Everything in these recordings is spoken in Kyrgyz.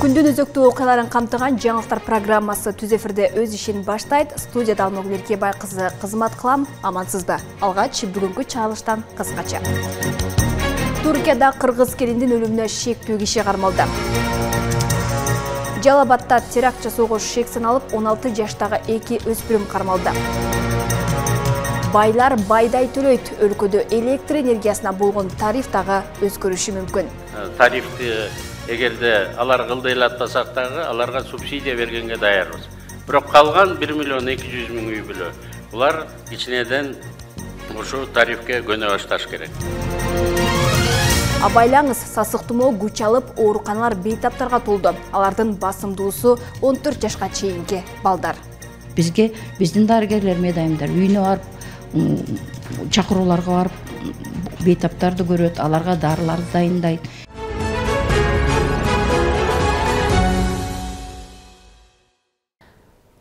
Күндүн өзөктүү окуяларын камтыган жаңылыктар программасы түз эфирде өз ишин баштайт. Студияда Алмагүл Эркебай кызы кызмат кылам. Амансызбы? Алгач бүгүнкү чыгарылыштан кыскача. Туркияда кыргыз келиндин өлүмүнө шектүү киши кармалды. Жалал Абадта теракт жасоого шек саналып 16 жаштагы 2 өспүрүм кармалды. Байлар байдай төлөйт. Өлкөдө электр энергиясына болгон тариф дагы өзгөрүшү мүмкүн. Тарифти эгерде алар кылдыйлатпасак дагы аларга субсидия бергенге даярбыз. Бирок калган 1 миллион 200 миң үй бүлө булар кичинеден ушу тарифке көнө башташ керек. Абайлаңыз, сасык тумоо күч алып, ооруканалар бейтаптарга толду. Алардын басымдуусу 14 жашка чейинки балдар. Бизге биздин дарыгерлер медайымдар үйүнө барып, чакырууларга барып, бейтаптарды көрөт, аларга дарыларды дайындайт.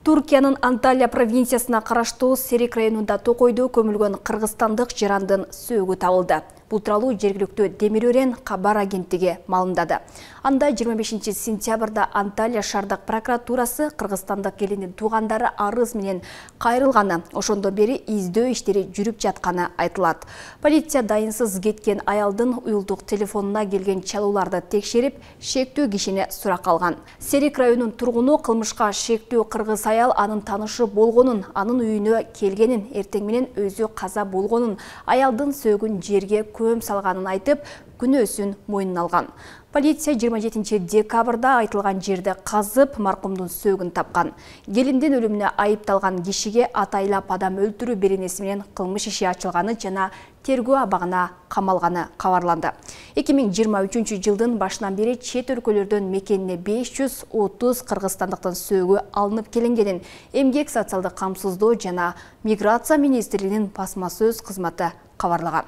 Туркиянын Анталия провинциясына караштуу Серик районунда токойдо көмүлгөн кыргызстандык жарандын сөөгү табылды. Бул тууралуу жергиликтүү Демир Өрен кабар агенттиги маалымдады. Анда 25 сентябрда Анталия шаардык прокуратурасы кыргызстандык келиндин туугандары арыз менен кайрылганы, ошондон бери издөө иштери жүрүп жатканы айтылат. Полиция дайынсыз кеткен аялдын уюлдук телефонуна келген чалууларды текшерип, шектүү кишини суракка алган. Серик районунун тургуну кылмышка шектүү кыргыз аял анын таанышы болгонун, анын үйүнө келгенин, эртең менен өзү каза болгонун, аялдын сөөгүн жерге көм салганын айтып, күнөөсүн мойнуна алган. Полиция 27 декабрда айтылган жерде казып, маркумдун сөөгүн тапкан. Келиндин өлүмүнө айыпталган кишиге атайлап адам өлтүрүү беренеси менен кылмыш иши ачылганы жана тергөө абагына камалганы кабарланды. 2023 жылдын башынан бери чет өлкөлөрдөн мекенине 530 кыргызстандыктын сөөгү алынып келингенин Эмгек социалдык камсыздоо жана миграция министрлигинин басма сөз кызматы кабарлаган.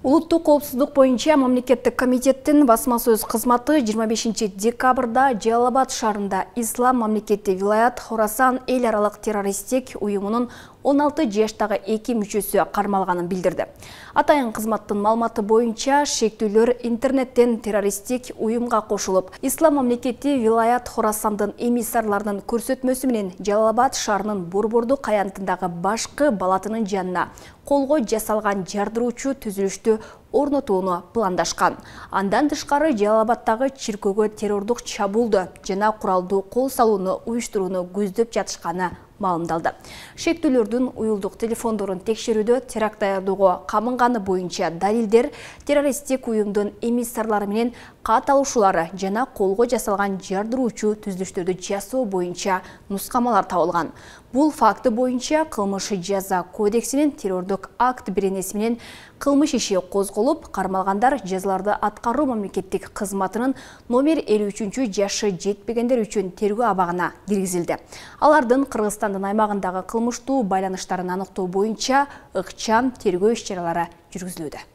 Улуттук коопсуздук боюнча мамлекеттик комитеттин басма сөз кызматы 25 декабрда Жалал Абад шаарында Ислам мамлекети вилаят Хорасан эл аралык террористтик уюмунун 16 жаштагы 2 мүчөсү кармалганын билдирди. Атайын кызматтын маалыматы боюнча шектүүлөр интернеттен террористтик уюмга кошулуп, Ислам мамлекети вилаят Хорасандын эмиссарларынын көрсөтмөсү менен Жалал Абад шаарынын Борбордук аянтындагы башкы балатынын жанына колго жасалган жардыруучу түзүлүштү орнотууну пландашкан. Андан тышкары Жалал Абадтагы чиркөөгө террордук чабуулду жана куралдуу кол салууну уюштурууну көздөп жатышканы маалымдалды. Шектүүлөрдүн уюлдук телефондорун текшерүүдө теракт даярдоого камынганы боюнча далилдер, террористтик уюмдун эмиссарлары менен кат алушулары жана колго жасалган жардыруучу түзүлүштөрдү жасоо боюнча нускамалар табылган. Бул факты боюнча кылмыш жаза кодексинин террордук акт беренеси менен кылмыш иши козголуп, кармалгандар жазаларды аткаруу мамлекеттик кызматынын номер 53 жашы жетпегендер үчүн тергөө абагына киргизилди. Алардын Кыргызстандын аймагындагы кылмыштуу байланыштарын аныктоо боюнча ыкчам тергөө иш-чаралары жүргүзүлүүдө.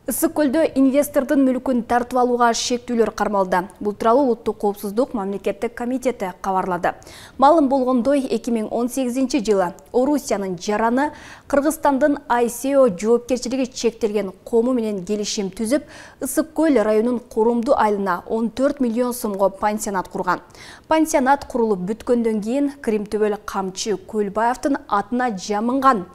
Ысык көлдө инвестордун мүлкүн тартып алууга шектүүлөр кармалды. Бул тууралуу Улуттук коопсуздук мамлекеттик комитети кабарлады. Маалым болгондой, 2018 жылы Орусиянын жараны Кыргызстандын ICO жоопкерчилиги чектелген кому менен келишим түзүп, Ысык көл районунун Курумду айылына 14 миллион сомго пансионат курган. Пансионат курулуп бүткөндөн кийин Кримтөбөл Камчы Көлбаевдин атына жамынган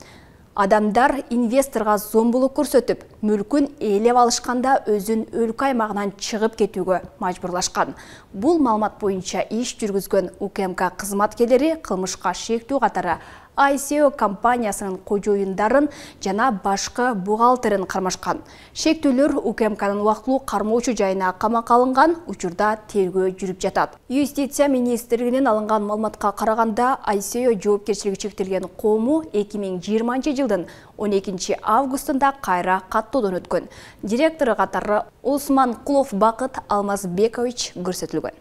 адамдар инвесторго зомбулук көрсөтүп, мүлкүн ээлеп алышканда өзүн өлкө аймагынан чыгып кетүүгө мажбурлашкан. Бул маалымат боюнча иш жүргүзгөн УКМК кызматкерлери кылмышка шектүү катары ICO компаниясынын кожоюндарын жана башкы бухгалтерин кармашкан. Шектүүлөр УКМКнын убактылуу кармоочу жайына камакка алынган, учурда тергөө жүрүп жатат. Юстиция министрлигинен алынган маалыматка караганда, ICO жоопкерчилиги чектелген кому 2020 жылдын 12 августунда кайра каттоодон өткөн. Директору катары Осман Кулов Бакыт Алмазбекович көрсөтүлгөн.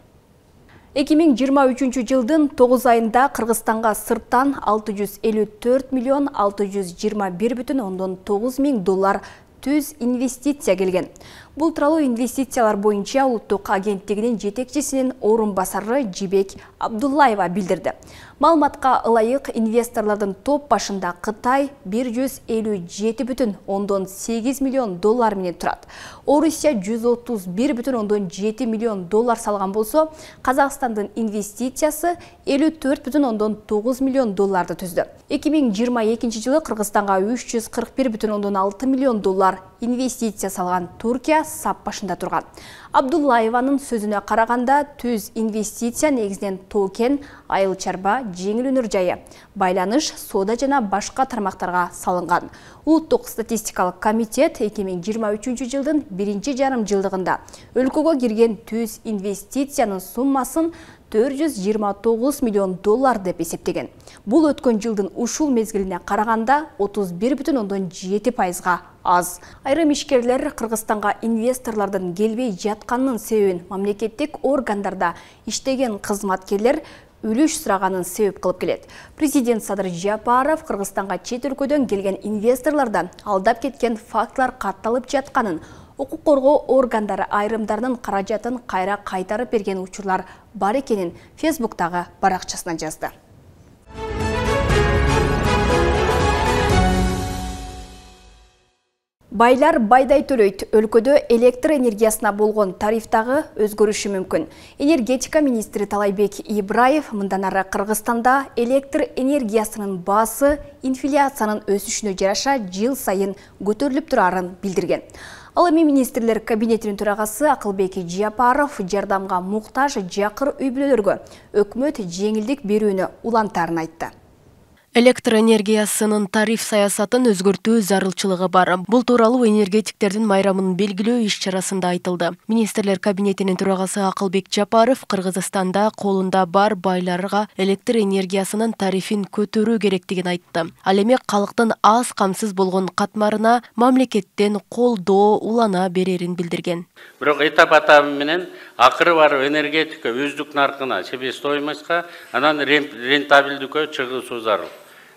2023 жылдын 9 айында Кыргызстанга сырттан 654 миллион 621,9 миң доллар түз инвестиция келген. Бул тууралуу инвестициялар боюнча улуттук агенттигинин жетекчисинин орун басары Жибек Абдуллаева билдирди. Маалыматка ылайык инвесторлордун топ башында Кытай 157,8 миллион доллар менен турат. Орусия 131,7 миллион доллар салган болсо, Казакстандын инвестициясы 54,9 миллион долларды түздү. 2022 жылы Кыргызстанга 341,6 миллион доллар инвестиция салган Туркия сап башында турган. Абдуллаеванын сөзүнө караганда, түз инвестиция негизинен токен, айыл чарба, жеңил өнөр жайы, байланыш, соода жана башка тармактарга салынган. Улуттук статистикалык комитет 2023 жылдын 1,5 жылдыгында өлкөгө кирген түз инвестициянын суммасын 429 миллион доллар деп эсептеген. Бул өткөн жылдын ушул мезгилине караганда 31,7%га аз. Айрым ишкерлер Кыргызстанга инвесторлордун келбей жатканынын себебин мамлекеттик органдарда иштеген кызматкерлер үлүш сураганын себеп кылып келет. Президент Садыр Жапаров Кыргызстанга чет өлкөдөн келген инвесторлордон алдап кеткен фактылар катталып жатканын, укук коргоо органдары айрымдарынын каражатын кайра кайтарып берген учурлар бар экенин Фейсбуктагы баракчасына жазды. Байлар байдай төлөйт. Өлкөдө электр энергиясына болгон тарифтагы өзгөрүшү мүмкүн. Энергетика министри Талайбек Ибраев мындан ары Кыргызстанда электр энергиясынын баасы инфляциянын өсүшүнө жараша жыл сайын көтөрүлүп турарын билдирген. Ал эми министрлер кабинетинин төрагасы Акылбек Жапаров жардамга муктаж жакыр үй-бүлөлөргө өкмөт жеңилдик берүүнү улантарын айтты. Электр энергиясынын тариф саясатын өзгөртүү зарылчылыгы бар. Бул тууралуу энергетиктердин майрамын белгилөө иш-чарасында айтылды. Министрлер кабинетинин төрагасы Акылбек Жапаров Кыргызстанда колунда бар байларга электр энергиясынын тарифин көтөрүү керектигин айтты. Ал эми калктын аз камсыз болгон катмарына мамлекеттен колдоо улана берерин билдирген. Бирок этап менен акыры барып энергетика өздүк наркына, себестоимостька, анан рентабелдиккө чыгуусу зарыл.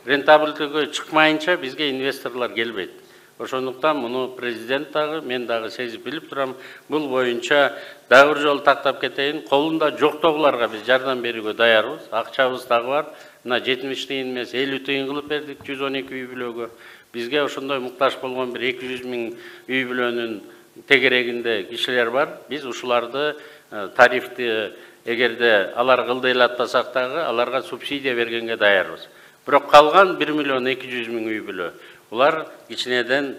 Рентабелдиккө чыкмайынча бизге инвесторлор келбейт. Ошондуктан муну президент дагы, мен дагы сезип билип турам. Бул боюнча дагы бир жолу тактап кетейин. Колунда жоктогуларга биз жардам берүүгө даярбыз. Акчабыз дагы бар. Мына 70 тыйын эмес 50 тыйын кылып бердик 112 үй-бүлөгө. Бизге ошондой муктаж болгон бир 200 миң үй-бүлөнүн тегерегинде кишилер бар. Биз ушуларды тарифти эгерде алар кылдыйлатпасак дагы аларга субсидия бергенге даярбыз. Бирок калган 1,2 миллион үй-бүлө. Улар кичинеден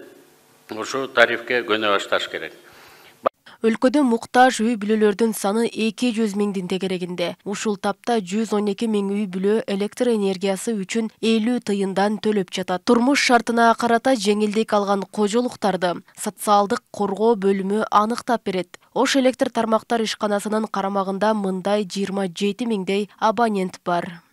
ушу тарифке көнө башташ керек. Өлкөдө муктаж үй-бүлөлөрдүн саны 200 миңдин тегерегинде. Ушул тапта 112 миң үй-бүлө электр энергиясы үчүн 50 тыйындан төлөп жатат. Турмуш шартына карата жеңилдик алган кожолуктарды социалдык коргоо бөлүмү аныктап берет. Ош электр тармактар ишканасынын карамагында мындай 27 миңдей абонент бар.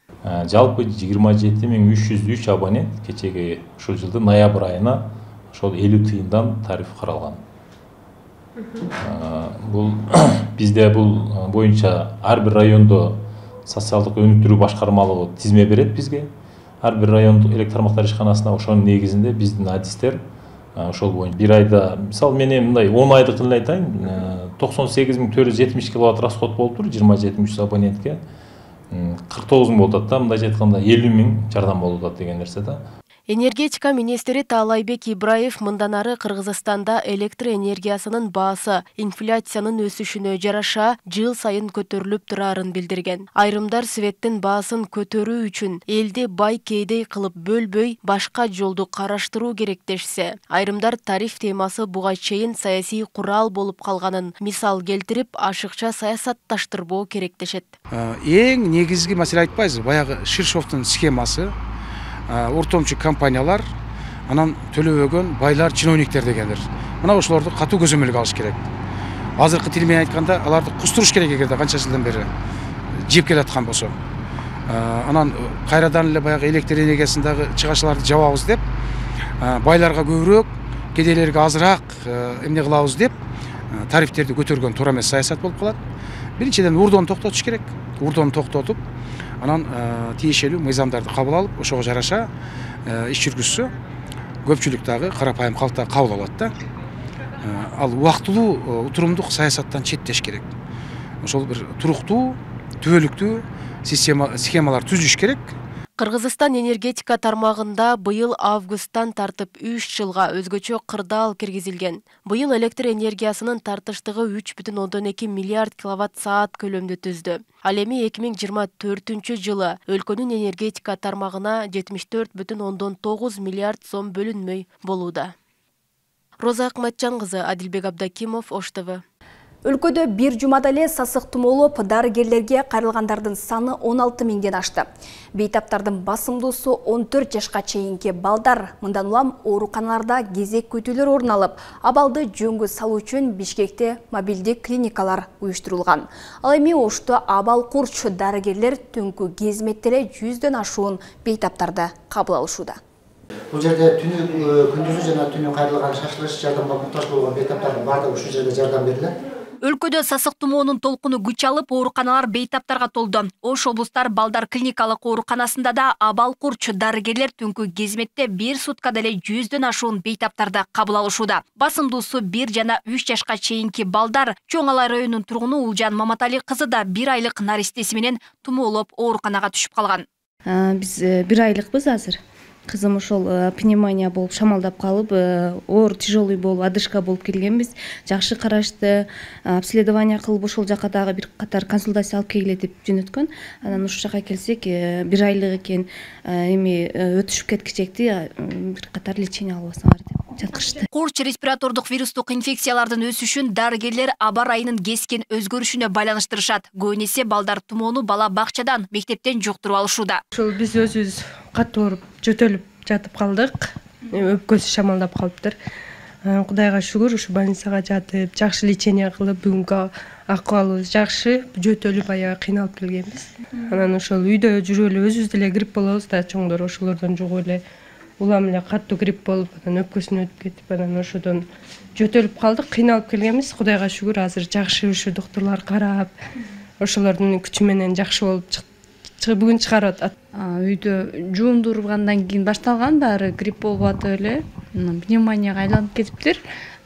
Жалпы 27.303 абонент кечеги ушул жылдын ноябрь айына ошол 50 тыйындан тариф каралган. Бул бизде бул боюнча ар бир райондо социалдык өнүктүрүү башкармалыгы тизме берет бизге. Ар бир райондук электр тармактар ишканасына ошонун негизинде биздин адистер ошол боюнча бир айда, мисалы мен мындай 10 айдыкын эле айтайын, 98.470 киловатт расход болуптур 27.300 абонентке. 49 миң болуп атат да, мындайча айтканда 50 миң жардам болуп атат деген нерсе да. Энергетика министри Талайбек Ибраев мындан ары Кыргызстанда электр энергиясынын баасы инфляциянын өсүшүнө жараша жыл сайын көтөрүлүп турарын билдирген. Айрымдар светтин баасын көтөрүү үчүн элди бай кейдей кылып бөлбөй башка жолду караштыруу керек дешсе, айрымдар тариф темасы буга чейин саясий курал болуп калганын мисал келтирип, ашыкча саясатташтырбоо керек дешет. Эң негизги маселе айтпайбызбы, баягы Ширшовдун схемасы, ортомчу компаниялар, анан төлөбөгөн байлар, чиновниктер дегендер. Мына ошолорду катуу көзөмөлгө алыш керек. Азыркы тил менен айтканда, аларды кустуруш керек эгерде канча жылдан бери жеп келаткан болсо. Анан кайрадан эле баягы электр энергиясындагы чыгашаларды жабабыз деп, байларга көбүрөөк, кедейлерге азыраак эмне кылабыз деп, тарифтерди көтөргөн туура эмес саясат болуп калат. Биринчиден урдону токтотуш керек. Урдону токтотуп, анан тиешелүү мыйзамдарды кабыл алып, ошого жараша иш жүргүзсө, көпчүлүк дагы карапайым калк кабыл алат да. ал убактылуу утурумдук саясаттан четтеш керек. Ошол бир туруктуу, түбөлүктүү схемалар түзүш керек. Кыргызстан энергетика тармагында быйыл августтан тартып 3 жылга өзгөчө кырдаал киргизилген. Быйыл электр энергиясынын тартыштыгы 3,2 миллиард киловатт-саат көлөмдө түздү. Ал эми 2024 жылы өлкөнүн энергетика тармагына 74,9 миллиард сом бөлүнмөй болууда. Роза Акматжан кызы, Адилбек Абдакимов, Ош ТВ. Өлкөдө бир жумада эле сасык тумоолоп, дарыгерлерге кайрылгандардын саны 16 миңден ашты. Бейтаптардын басымдуусу 14 жашка чейинки балдар. Мындан улам ооруканаларда кезек күтүүлөр орун алып, абалды жөнгө салуу үчүн Бишкекте мобилдик клиникалар уюштурулган. Ал эми Ошто абал курч дарыгерлер түнкү кезметте эле 100дөн ашуун бейтаптарды кабыл алышууда. Бул жерде күндүзү жана түнү кайрылган шашылыш жардамга муктаж болгон бейтаптардын баардыгы ушул жерде жардам берилет. Өлкөдө сасык тумоонун толкуну күч алып, ооруканалар бейтаптарга толду. Ош облустар балдар клиникалык ооруканасында да абал курч дарыгерлер түнкү кезметте 1 суткада эле 100дөн ашуун бейтаптарды кабыл алышууда. Басымдуусу 1 жана 3 жашка чейинки балдар. Чоң Алай районунун тургуну Улжан Маматали кызы да 1 айлык наристеси менен тумоолоп ооруканага түшүп калган. Биз 1 айлыкпыз азыр. Кызым ошол пневмония болуп шамалдап калып, оор тяжелый болуп, одышка болуп келгенбиз. Жакшы карашты, обследование кылып ошол жака дагы бир катар консультация алып келгиле деп жөнөткөн. Анан ушул жака келсек, 1 айлык экен, эми өтүшүп кеткичекти, бир катар лечение албасаңар деп жаткырышты. Курч респиратордук вирустук инфекциялардын өсүшүн дарыгерлер аба райынын кескен өзгөрүшүнө байланыштырышат. Көбүнесе балдар тумоону бала бакчадан, мектептен жуктуруп алышууда. Ошол биз өзүбүз катуу ооруп, жөтөлүп жатып калдык. Өпкөсү шамалдап калыптыр. Кудайга шүгүр, ушу больницага жатып, жакшы лечение кылып, бүгүнкү акыбалыбыз жакшы, жөтөлүп аябай кыйналып келгенбиз. Анан ошол үйдө жүрүп эле өзүбүз деле грипп болобуз да, чоңдор ошолордон жугуп эле улам эле катуу грипп болуп, анан өпкөсүнө өтүп кетип, анан ошодон жөтөлүп калдык, кыйналып келгенбиз. Кудайга шүгүр, азыр жакшы ушу доктурлар карап, ошолордун күчү менен жакшы болуп бүгүн чыгарып атат. Үйдө жуундургандан кийин башталган, баары грипп болуп атып эле, пневмонияга айланып кетиптир.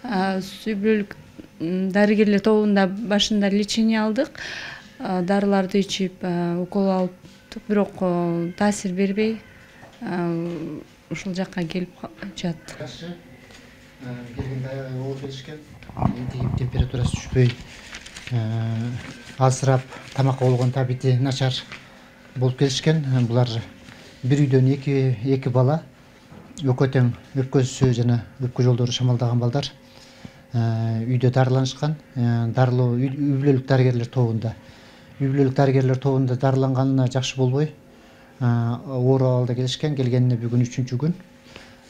Сүйбөлүк дарыгерлер тобунда башында лечение алдык, дарыларды ичип, укол алыптык, бирок таасир бербей, ушул жакка келип жатты. Келгенде аябай оор келишкен, температурасы түшпөй, азырап, тамакка болгон табити начар болуп келишкен. Булар бир үйдөн эки бала, өкө тең өпкөсү жана өпкө жолдору шамалдаган балдар үйдө дарыланышкан. Дарылоо үй бүлөлүк дарыгерлер тобунда. Үй бүлөлүк дарыгерлер тобунда дарыланганына жакшы болбой, оор абалда келишкен. Келгенине бүгүн 3-күн.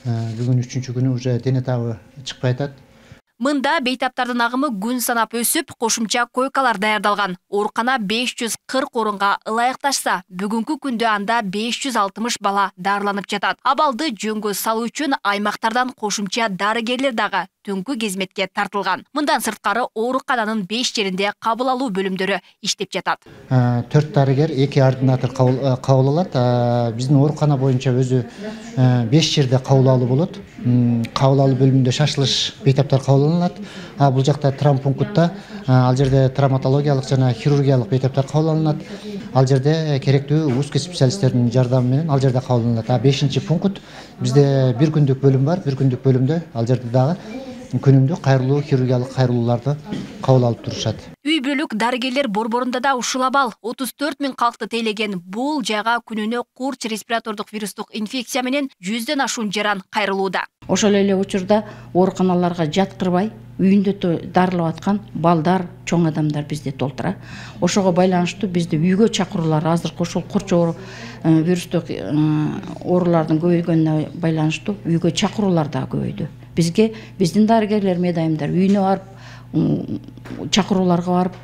Бүгүн 3-күнү уже дене табы чыкпай атат. Мында бейтаптардын агымы күн санап өсүп, кошумча койкалар даярдалган. Оорукана 540 орунга ылайыкташса, бүгүнкү күндө анда 560 бала дарыланып жатат. Абалды жөнгө салуу үчүн аймактардан кошумча дарыгерлер дагы түнкү кезметке тартылган. Мындан сырткары оорукананын 5 жеринде кабыл алуу бөлүмдөрү иштеп жатат. 4 дарыгер, 2 ординатор кабыл алат. Биздин оорукана боюнча өзү 5 жерде кабыл алуу болот. Кабыл алуу бөлүмүндө шашылыш бейтаптар кабыл алынат. Бул жакта травмпунктта, ал жерде травматологиялык жана хирургиялык бейтаптар кабыл алынат. Ал жерде керектүү узкий специалисттердин жардамы менен ал жерде кабыл алынат. 5-чи пункт бизде 1 күндүк бөлүм бар. 1 күндүк бөлүмдө ал жерде дагы күнүмдүк кайрылуу, хирургиялык кайрылууларды кабыл алып турушат. Үй бүлөлүк дарыгерлер борборунда да ушул абал 34 000 калкты тейлеген. Бул жайга күнүнө курч респиратордук вирустук инфекция менен 100дөн ашуун жаран кайрылууда. Ошол эле учурда ооруканаларга жаткырбай, үйүндө дарылап аткан балдар, чоң адамдар бизде толтура. Ошого байланыштуу бизде үйгө чакыруулар азыркы ошол курч вирустук оорулардын көбөйгөнүнө байланыштуу үйгө чакыруулар да көбөйдү. Бизге биздин дарыгерлер медайымдар үйүнө барып, чакырууларга барып,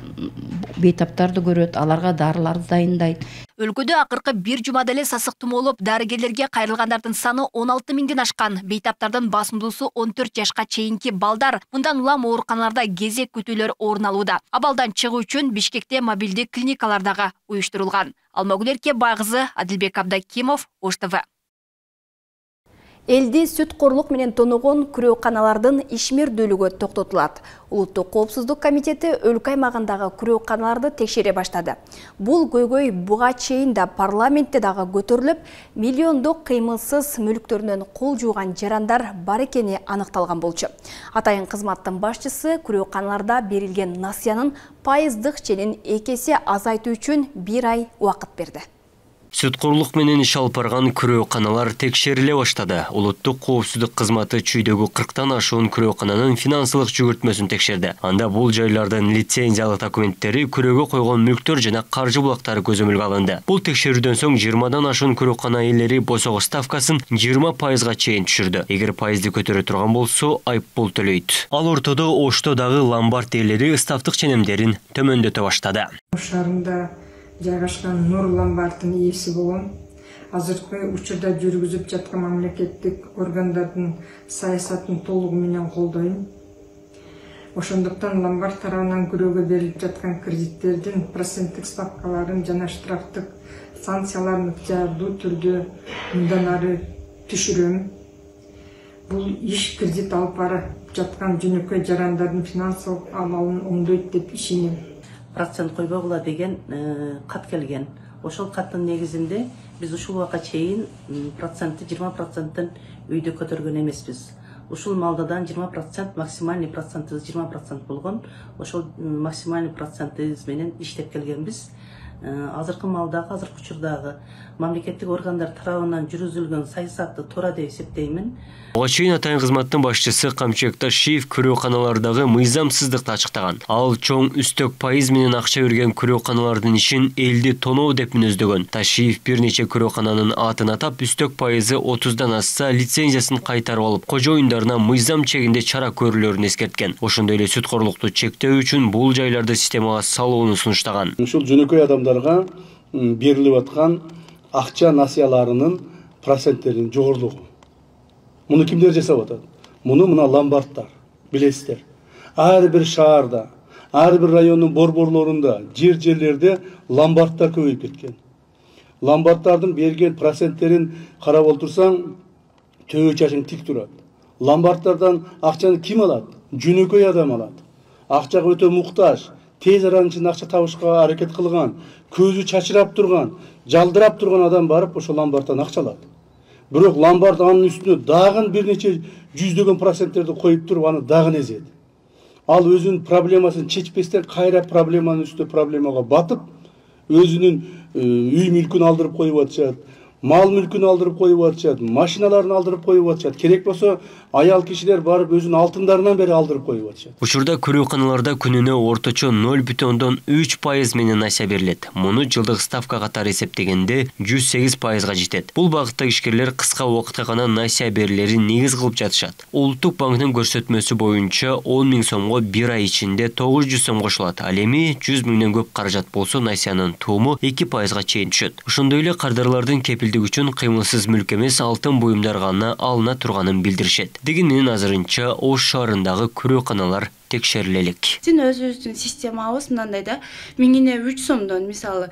бейтаптарды көрөт, аларга дарыларды дайындайт. Өлкөдө акыркы 1 жумада эле сасык тумоолоп, дарыгерлерге кайрылгандардын саны 16 миңден ашкан. Бейтаптардын басымдуусу 14 жашка чейинки балдар. Мындан улам ооруканаларда кезек күтүүлөр орун алууда. Абалдан чыгуу үчүн Бишкекте мобилдик клиникалар дагы уюштурулган. Алмагүл Эркебай кызы, Адилбек Абдакимов, Ош ТВ. Элди сүт-корлук менен тоногон күрөөканалардын ишмердүүлүгү токтотулат. Улуттук коопсуздук комитети өлкө аймагындагы күрөөканаларды текшере баштады. Бул көйгөй буга чейин да парламентте дагы көтөрүлүп, миллиондук кыймылсыз мүлктөрүнөн кол жууган жарандар бар экени аныкталган болчу. Атайын кызматтын башчысы күрөөканаларда берилген насыянын пайыздык ченин 2 эсе азайтуу үчүн 1 ай убакыт берди. Сүт-корлук менен иш алып барган күрөөканалар текшериле баштады. Улуттук коопсуздук кызматы чүйдөгү 40тан ашуун күрөөкананын финансылык жүгүртмөсүн текшерди. Анда бул жайлардын лицензиялык документтери, күрөөгө койгон мүлктөр жана каржы булактары көзөмөлгө алынды. Бул текшерүүдөн соң 20дан ашуун күрөөкана ээлери босого ставкасын 20%га чейин түшүрдү. Эгер пайызды көтөрө турган болсо, айыппул төлөйт. Ал ортодо Ошто дагы ломбард ээлери ставтык ченемдерин төмөндөтө баштады. Шаарында жайгашкан Нур ломбардын ээси болом. Азыркы учурда жүргүзүп жаткан мамлекеттик органдардын саясатын толугу менен колдойм. Ошондуктан ломбард тарабынан күрөөгө берилип жаткан кредиттердин проценттик ставкаларын жана штрафтык санкцияларын ыктыярдуу түрдө мындан ары түшүрөм. Бул иш кредит алып барып жаткан жөнөкөй жарандардын финансылык абалын оңдойт деп ишенем. Процент койбогула деген кат келген. Ошол каттын негизинде биз ушул убакка чейин процентти 20%тын үйдө көтөргөн эмеспиз. Ушул малдадан 20%, максимальный процентибиз 20% болгон. Ошол максимальный процентибиз менен иштеп келгенбиз. Азыркы малдагы, азыркы учурдагы мамлекеттик органдар тарабынан жүргүзүлгөн саясатты туура деп эсептеймин. Буга чейин атайын кызматтын башчысы Камчек Ташиев күрөөканалардагы мыйзамсыздыкты ачыктаган. Ал чоң үстөк пайыз менен акча берген күрөөканалардын ишин элди тоноо деп мүнөздөгөн. Ташиев бир нече күрөөкананын атын атап, үстөк пайызы 30дан асса лицензиясын кайтарып алып, кожоюндарына мыйзам чегинде чара көрүлөрүн эскерткен. Ошондой эле сүт-корлукту чектөө үчүн бул жайларды системага салууну сунуштаган. Ушул жөнөкөй адамдарга берилип аткан акча насыяларынын проценттеринин жогорулугу. Муну кимдер жасап атат? Муну мына ломбардтар, билесиздер. Ар бир шаарда, ар бир райондун борборлорунда, жерлерде ломбардтар көбөйүп кеткен. Ломбардтардын берген проценттерин карап олтурсаң, төбө чачың тик турат. Ломбардтардан акчаны ким алат? Жөнөкөй адам алат. Акчага өтө муктаж, тез аранын ичинде акча табышка аракет кылган, көзү чачырап турган, жалдырап турган адам барып ошол ломбардтан акча алат. Бирок ломбард анын үстүнө дагы бир нече жүздөгөн проценттерди коюп туруп, аны дагы эзет. Ал өзүнүн проблемасын чечпестен кайра проблеманын үстүнө проблемага батып, өзүнүн үй мүлкүн алдырып коюп атышат, мал мүлкүн алдырып коюп атышат, машиналарын алдырып коюп атышат. Керек болсо аял кишилер барып өзүнүн алтындарынан бери алдырып коюп атышат. Учурда күрөөканаларда күнүнө орточо 0,3% менен насыя берилет. Муну жылдык ставка катары эсептегенде 108%га жетет. Бул багытта ишкерлер кыска убакытка гана насыя берилерин негиз кылып жатышат. Улуттук банктын көрсөтмөсү боюнча 10 000 сомго 1 ай ичинде 900 сом кошулат. Ал эми 100 000ден көп каражат болсо насыянын тууму 2%га чейин түшөт. Ошондой эле кардарлардын кепилдик үчүн кыймылсыз мүлк эмес алтын буюмдар гана алына турганын билдиришет. Дегенмен азырынча Ош шаарындагы күрөөканалар текшериле элек. Биздин өзүбүздүн системабыз мындай да, 1000-не 3 сомдон, мисалы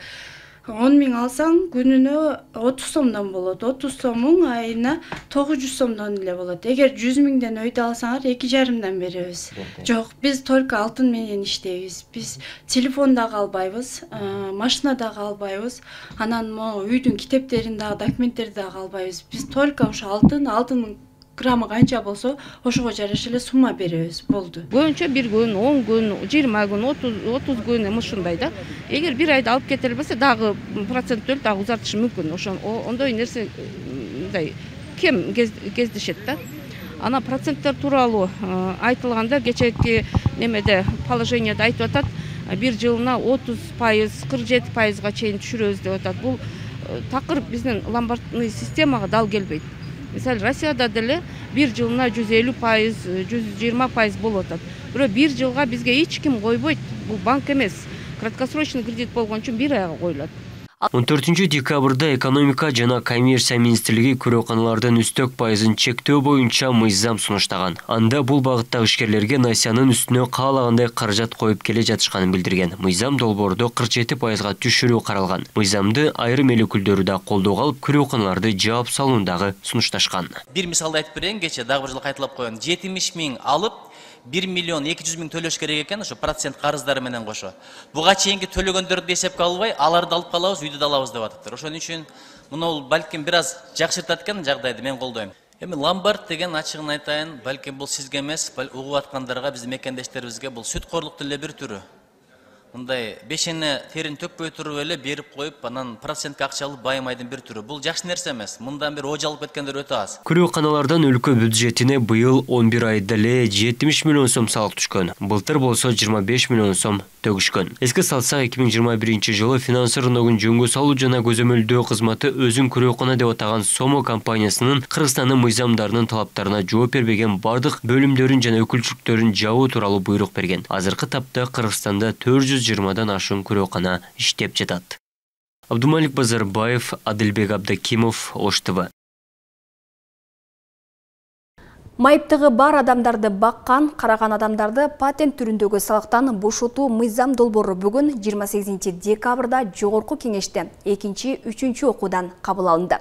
10 000 алсаң күнүнө 30 сомдон болот. 30 сомуң айына 900 сомдон эле болот. Эгер 100 000ден өйдө алсаңар 2,5 беребиз. Жок, биз только алтын менен иштейбиз. Биз телефон дагы албайбыз, машина дагы албайбыз. Анан могу үйдүн китептерин дагы, документтерди дагы албайбыз. Биз только ошо алтындын граммы канча болсо, ошого жараша эле сумма беребиз, болду. Көбүнчө 1 күн, 10 күн, 20 күн, 30 күн ушундай да. Эгер 1 айда алып кетеле болсо, дагы процент төлөп дагы узартышы мүмкүн. Ондой нерсе мындай кем кездешет да. Ана проценттер тууралуу айтылганда, кечээки немеде положенияда айтып атат, бир жылына 30%, 47%га чейин түшүрөбүз деп атат. Бул такыр биздин ломбардный системага дал келбейт. Мисалы, Россияда деле бир жылына 150%, 120% болуп атат. Бирок бир жылга бизге эч ким койбойт. Бул банк эмес. Краткосрочный кредит болгон үчүн 1 айга коюлат. 14 декабрда экономика жана коммерция министрлиги күрөканалардын үстөк пайызын чектөө боюнча мыйзам сунуштаган. Анда бул багыттагы ишкерлерге насиянын үстүнө каалагандай каражат коюп келе жатышканын билдирген. Мыйзам долбоордо 47%га түшүрүү каралган. Мыйзамды айрым эл өкүлдөрү да колдоого алып, күрөканаларды жаап салуундагы сунушташкан. Бир мисалды айтып берейин, кече дагы бир жыл кайталап коеюн. 70 миң алып 1 миллион 200 миң төлөш керек экен, ошо процент карыздары менен кошо. Буга чейинки төлөгөндөрдү эсепке албай, аларды алып калабыз, үйдү да алабыз деп атыптыр. Ошон үчүн муну балким бир аз жакшыртат экен жагдайды, мен колдойм. Эми ломбард деген ачыгын айтайын, балким бул сизге эмес, угуп аткандарга, биздин мекендештерибизге бул сүткорлуктун эле бир түрү. Мындай бешене терин төкпөй туруп эле берип коюп, анан процентке акча алып байымайдын бир түрү. Бул жакшы нерсе эмес. Мындан бир ожа алып кеткендер өтө аз. Күрөканалардан өлкө бюджетине быйыл 11 айда эле 70 миллион сом салык түшкөн. Былтыр болсо 25 миллион сом төгүшкөн. Эске салсак, 2021-жылы финансы рыногун жөнгө салуу жана көзөмөлдөө кызматы өзүн күрөкана деп атаган Сомо компаниясынын Кыргызстандын мыйзамдарынын талаптарына жооп бербеген бардык бөлүмдөрүн жана өкүлчүлүктөрүн жабуу тууралуу буйрук берген. Азыркы тапта Кыргызстанда 420 ашуун күрөкана иштеп жатат. Абдумалик Базарбаев, Адилбек Абдакимов, Ош ТВ. Майыптыгы бар адамдарды баккан, караган адамдарды патент түрүндөгү салыктан бошотуу мыйзам долбоору бүгүн 28 декабрда Жогорку кеңеште 2-3 окуудан кабыл алынды.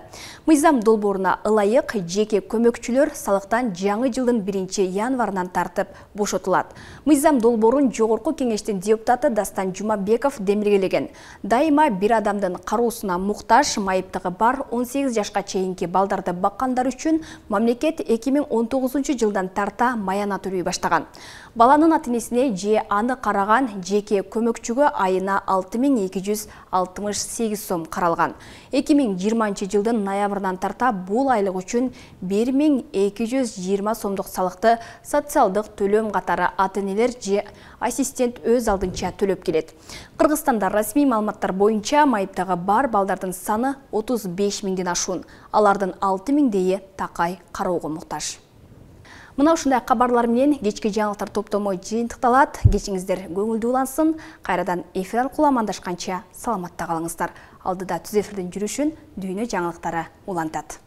Мыйзам долбооруна ылайык жеке көмөкчүлөр салыктан жаңы жылдын 1-январынан тартып бошотулат. Мыйзам долбоорун Жогорку кеңештин депутаты Дастан Жумабеков демилгелеген. Дайыма бир адамдын кароосуна муктаж майыптыгы бар 18 жашка чейинки балдарды баккандар үчүн мамлекет 2019 жылдан тарта маяна төлөй баштаган. Баланын ата-энесине же аны караган жеке көмөкчүгө айына 6268 сом каралган. 2020 жылдын ноябрынан тарта бул айлык үчүн 1220 сомдук салыкты социалдык төлөм катары ата-энелер же ассистент өз алдынча төлөп келет. Кыргызстанда расмий маалыматтар боюнча майыптыгы бар балдардын саны 35 миңден ашуун. Алардын 6000 такай кароого муктаж. Мына ушундай кабарлар менен кечки жаңылыктар топтому жыйынтыкталат. Кечиңиздер көңүлдүү улансын. Кайрадан эфир аркылуу амандашканча саламатта калыңыздар. Алдыда түз эфирдин жүрүшүн дүйнө жаңылыктары улантат.